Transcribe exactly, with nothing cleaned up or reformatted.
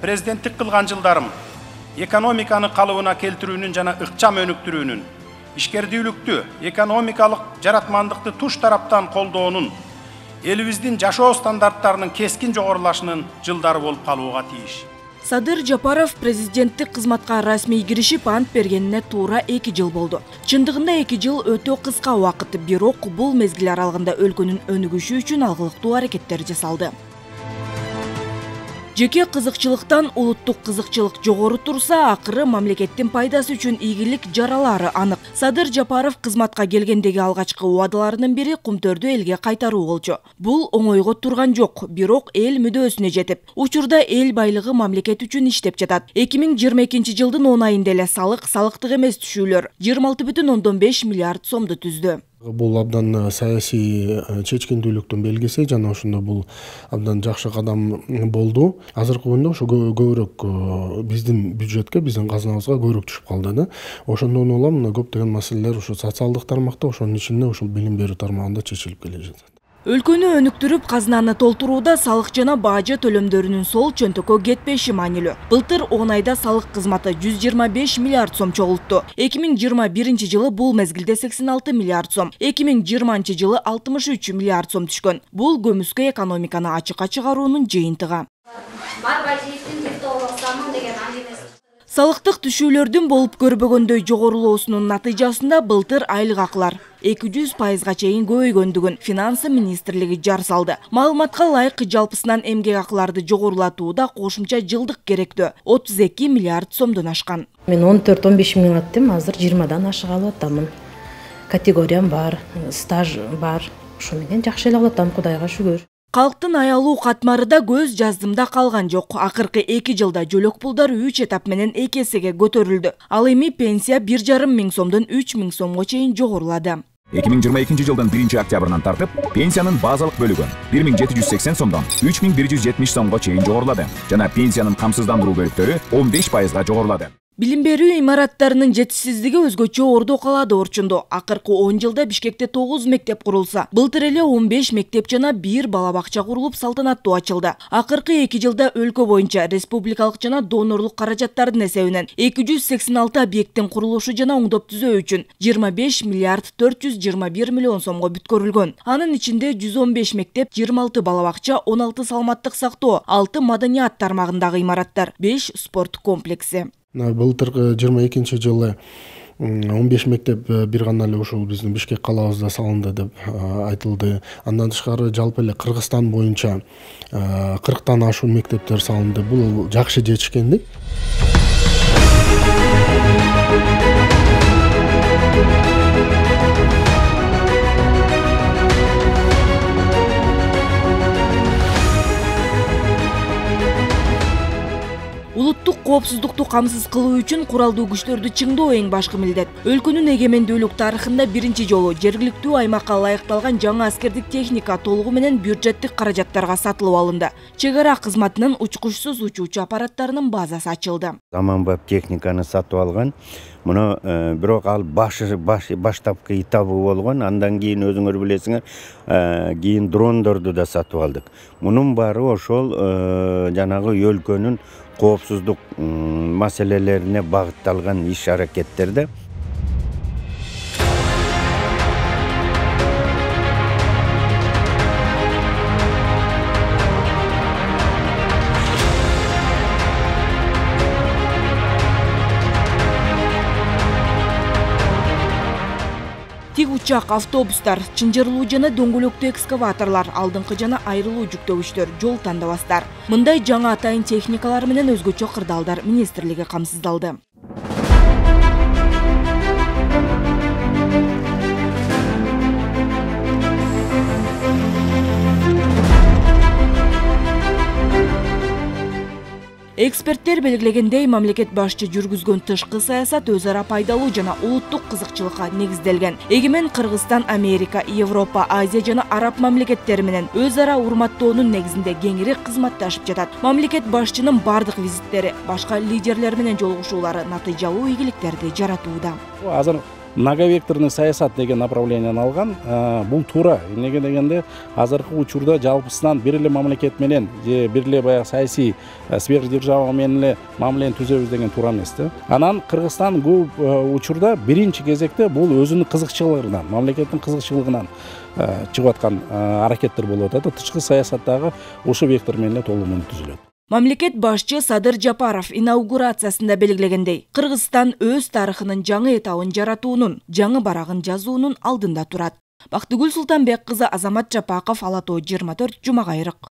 президенттик кылган жылдарым экономиканы калыбына келтирүүнүн жана ыкчам өнүктүрүүнүн, ишкердүүлүктү, экономикалык жаратмандыкты туш тараптан колдоонун, элибиздин жашоо стандарттарынын кескин жогорулашынын жылдары болуп калууга тийиш. Садыр Жапаров президенттик кызматка расмий киришип ант бергенине туура эки жыл болду. Чындыгында эки жыл өтө кыска убакыт, бирок бул мезгил аралыгында өлкөнүн өнүгүшү үчүн алгылыктуу аракеттер жасалды. Жеке кызыкчылыктан улуттук кызыкчылык жогору турса, акыры мамлекеттин пайдасы үчүн ийгилик жаралары анык. Садыр Жапаров кызматка келгендеги алгачкы убадаларынын бири Кумтөрдү элге кайтаруу болчу. Бул оңойго турган жок, бирок эл мүдөөсүнө жетип, учурда эл байлыгы мамлекет үчүн иштеп жатат. эки миң жыйырма экинчи жылдын он айында эле салык, салыктык эмес түшүүлөр жыйырма алты бүтүн ондон беш миллиард сомду түздү. Бул абдан саясий чечкиндүүлүктүн белгиси жана ошондо бул абдан жакшы кадам болду. Азыркы күндө ошо көбүрөөк биздин бюджетке, биздин казнабызга көбүрөөк түшүп калды да. Ошондон улам көптөгөн маселелер ошо социалдык тармакта, ошонун ичинде ошол билим берүү тармагында чечилип келе жатат. Өлкөнү өнүктүрүп, казнаны толтурууда салык жана бажы төлөмдөрүнүн сол чөнтөккө кетпеши маанилүү. Былтыр он айда салык кызматы жүз жыйырма беш миллиард сом чогултту. эки миң жыйырма биринчи жылы бул мезгилде сексен алты миллиард сом, эки миң жыйырманчы жылы алтымыш үч миллиард сом түшкөн. Бул көмүскө экономиканы ачыкка чыгаруунун жыйынтыгы. Салыктык түшүүлөрдүн болуп көрбөгөндөй жогорулоосунун натыйжасында былтыр айлык акылар эки жүз пайызга чейин көбөйгөндүгүн Финансы министрлиги жар салды. Маалыматка ылайык жалпысынан эмгек акыларды жогорулатууда кошумча жылдык керектөө отуз эки миллиард сомдон ашкан. Мен он төрт он беш миң аттым, азыр жыйырмадан ашык алып атамын. Категориям бар, стаж бар. Ошо менен жакшы эле алып атам, Кудайга шүгүр. Калктын аялуу катмары да көз жаздымда калган жок. Акыркы эки жылда жөлөк пулдар үч этап менен эки эсеге көтөрүлдү. Ал эми пенсия бир жарым миң сомдон үч миң сомго чейин жогорулады. эки миң жыйырма экинчи жылдын биринчи октябрынан тартып, пенсиянын базалык бөлүгү бир миң жети жүз сексен сомдон үч миң бир жүз жетимиш сомго чейин жогорулады жана пенсиянын камсыздандыруу бөлүктөрү он беш пайызга жогорулады. Билим берүү имараттарынын жетишсиздиги өзгөчө Ордо калаада орчунду. Акыркы он жылда Бишкекте тогуз мектеп курулса, былтыр эле он беш мектеп жана бир бала бакча курулуп салтанаттуу ачылды. Акыркы эки жылда өлкө боюнча республикалык жана донорлук каражаттардын эсебинен эки жүз сексен алты объекттин курулушу жана оңдоп түзөө үчүн жыйырма беш миллиард төрт жүз жыйырма бир миллион сомго бүткөрүлгөн. Анын ичинде жүз он беш мектеп, жыйырма алты бала бакча, он алты саламаттык сактоо, алты маданият тармагындагы имараттар, беш спорт комплекси. Былтыр жыйырма экинчи жылы он беш мектеп бир гана эле ушул биздин Бишкек калабызда салынды деп айтылды. Андан тышкары жалпы эле Кыргызстан боюнча кырктан ашуун мектептер салынды. Бул жакшы жетишкендик. Улуттук коопсуздукту камсыз кылуу үчүн куралдуу күчтөрдү чыңдоо эң башкы милдет. Өлкөнүн эгемендүүлүк тарыхында биринчи жолу жергиликтүү аймакка ылайыкталган жаңы аскердик техника толугу менен бюджеттик каражаттарга сатылып алынды. Чек ара кызматынын учкучсуз учуучу аппараттарынын базасы ачылды. Заманбап техниканы сатып алган. Муну бирок ал башы баштапкы этабы болгон. Андан кийин өзүңөр билесиңер, кийин дрондорду да сатып алдык. Мунун баары ошол жанагы өлкөнүн коопсуздук маселелерине багытталган иш-аракеттерде. Тик учак, автобустар, чынжырлуу жана дөңгөлөктүү экскаваторлор, алдыңкы жана айрылуу жүктөгүчтөр, жол тандабастар. Мындай жаңы атайын техникалар менен өзгөчө кырдаалдар министрлиги камсыздалды. Эксперттер белгилегендей, мамлекет башчы жүргүзгөн тышкы саясат өз ара пайдалуу жана улуттук кызыкчылыкка негизделген. Эгемен Кыргызстан, Америка, Европа, Азия жана Араб мамлекеттери менен өз ара урматтоонун негизинде кеңири кызматташып жатат. Мамлекет башчынын бардык визиттери, башка лидерлер менен жолугушуулары натыйжалуу ийгиликтерди жаратууда. Азыр многовекторный саясат деген направленияны алган. Бул туура. Эмнеге дегенде азыркы учурда жалпысынан бир эле мамлекет менен же бир эле баягы саясий сверхдержава менен эле мамилени түзөбүз деген туура эмес да. Анан Кыргызстан көп учурда биринчи кезекте бул өзүнүн кызыкчылыгынан, мамлекеттин кызыкчылыгынан чыгып аткан аракеттер болуп атат. Тышкы саясаттагы ошо вектор менен эле толугу түзүлөт. Мамлекет башчы Садыр Жапаров инаугурациясында белгилегендей, Кыргызстан өз тарыхынын жаңы этабын жаратуунун, жаңы барагын жазуунун алдында турат. Бактыгүл Султанбек кызы, Азамат Жапаков, Ала Тоо жыйырма төрт, Жума Кайрык.